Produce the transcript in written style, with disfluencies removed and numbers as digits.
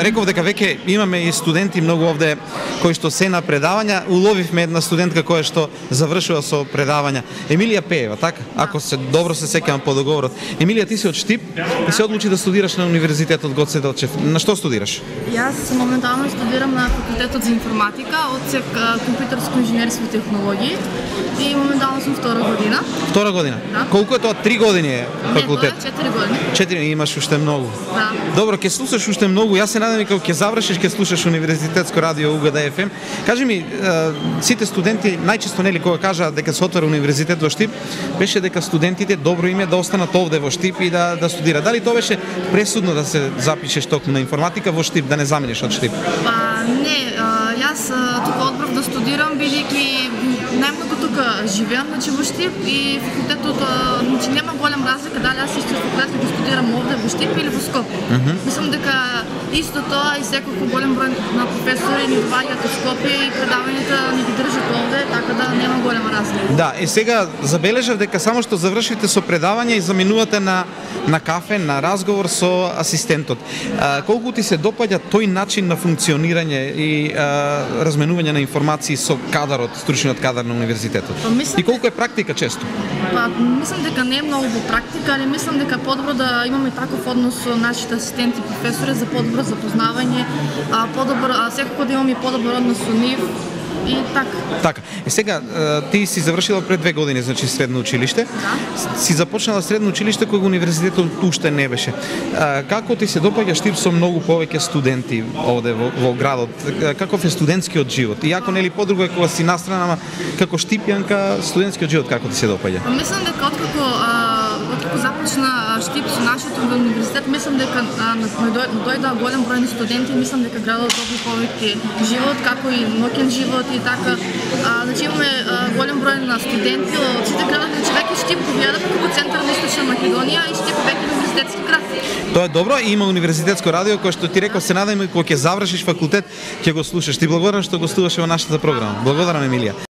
реков дека веќе имаме и студенти многу овде кои што се на предавања. Уловивме една студентка која што завршува со предавања. Емилија Пеева, така? Ако се добро се сеќавам по договорот. Емилија, ти си од Штип и се одлучи да студираш на Универзитетот Гоце Делчев. На што студираш? Јас моментално студирам на факултетот за информатика, одсек компјутерско инженерство и технологии и моментално сум втора година. Втора година? Да. Колку е тоа? 3 години е факултет? Не, тоа е 4 години. 4, имаш уште многу. Да. Добро, ќе слушаш уште многу. Јас се надам и кога ќе завршиш ќе слушаш Универзитетско радио УГД ФМ. Кажи ми, сите студенти најчесто нели кога кажаат дека се отвора универзитет во Штип, беше дека студентите добро им е да останат овде во Штип и да студираат. Дали тоа беше пресудно да се запишеш токму на информатика во Штип, да не замениш од Штип? Па не, јас тука одбрав да студирам бидејќи најмногу тука живеам, значи во Штип и факултетот, значи нема голем разлика дали јас исто факултет ќе студирам овде во Штип или во Скопје. Мислам дека исто тоа и секој голем број на професори ни доаѓаат од Скопје и предавањата ни ги држат овде, така да нема голема разлика. Да, и сега забележав дека само што завршите со предавање и заминувате на кафе, на разговор со асистентот. Колку ти се допаѓа тој начин на функционирање и разменување на информации со кадарот, стручниот кадар на универзитетот? И колку е практика често? Па, мислам дека не е многу во практика, али мислам дека подобро да имаме таков однос со нашите асистенти и професори за подобро запознавање, секако да имаме подобар однос со нив. И така. Така. И сега ти си завршила пред 2 години, значи средно училиште. Да. Си започнала средно училиште кога универзитетот уште не беше. Како ти се допаѓа Штип со многу повеќе студенти овде во градот? Каков е студентскиот живот? Иако нели подруго е кога си настрана, ама како штипјанка, студентскиот живот како ти се допаѓа? Мислам дека откако започна Штип со нашиот универзитет, мислам дека дојдоа голем број на студенти, мислам дека градот доби повеќе живот, како и ноќен живот и така. Значи имаме голем број на студенти од сите градови, значи веќе Штип го гледаме како центар на Источна Македонија и Штип веќе универзитетски град. Тоа е добро и има универзитетско радио кој што ти реков, се надам и кога ќе завршиш факултет ќе го слушаш. Ти благодарам што гостуваше во нашата програма. Благодарам, Емилија.